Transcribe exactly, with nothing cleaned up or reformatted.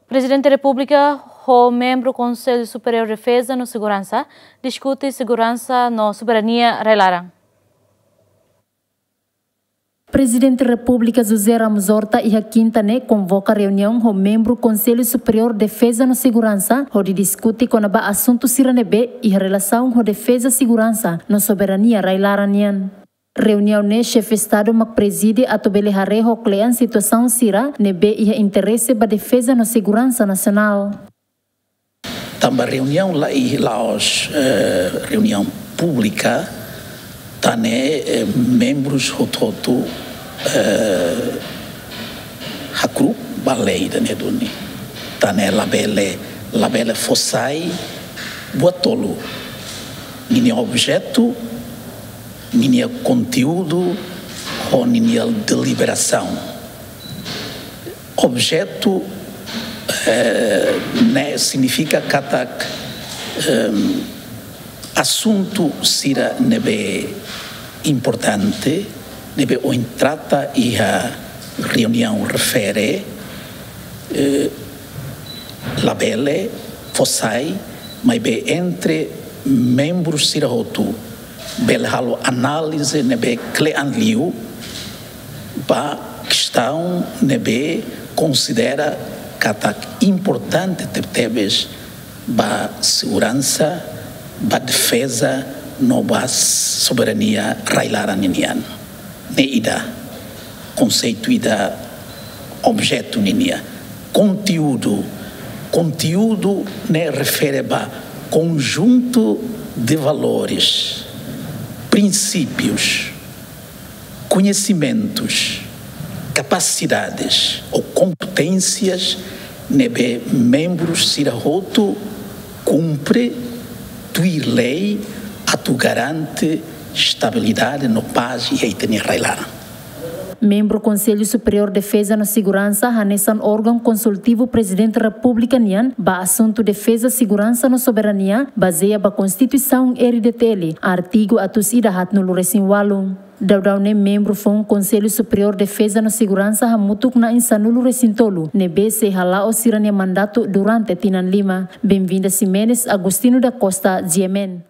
Prezidente Repúblika ho membru Konsellu Superiór Defeza no Seguransa diskute seguransa no soberania rai-laran. Prezidente Repúblika José Ramos Horta iha kinta ne'e konvoka reuniaun ho membru Konsellu Superiór Defeza no Seguransa hodi diskute kona-ba asuntu sira ne'ebé iha relasaun ho defeza, seguransa no soberania rai-laran nian. Reuniaun ne'e xefe Estadu mak prezide atu bele haree ho kle'an situasaun sira ne'ebé iha interese ba defeza no seguransa nasionál. Tanba reuniaun la iha, la'ós, eh, reuniaun públika, tan ne'e, eh, membrus hotu-hotu, eh, hakru'uk ba lei ida-ne'e duni. Tan ne'e labele, labele fó sai buat tolu. Ninia objetu, ninia konteúdu, ho ninia deliberasaun. Objetu, eh, ne'e signifika katak, ehm, asuntu sira ne'ebé importante, ne'ebé ohin trata iha reuniaun refere, eh, labele fó sai, maibé entre membru sira hotu bele halo análize ne'ebé kle'an liu ba kestaun ne'ebé konsidera katak importante tebetebes ba seguransa, ba defeza, no ba soberania rai-laran ninian. Ne'e ida, konseitu ida, objetu ninia. Konteúdu, konteúdu ne'e refere ba konjuntu de valores, prinsípius, koñesimentus, kapasidades ou kompeténsias ne'ebé membrus sira hotu kumpre tuir lei atu garante estabilidade no pás iha ita-nia rai-laran. Membru Konsellu Superiór Defeza no Seguransa hanesan órgaun konsultivu Prezidente Repúblika nian ba asuntu defeza, seguransa no soberania, bazeia ba Konstituisaun R D T L, artigu atus ida haatnulu resin ualu. Daudaun ne'e membru foun Konsellu Superiór Defeza no Seguransa hamutuk na'in sanulu resin tolu, ne'ebé sei hala'o sira-nia mandatu durante tinan lima. Benvinda Ximenes, Agostinho da Costa, G M N.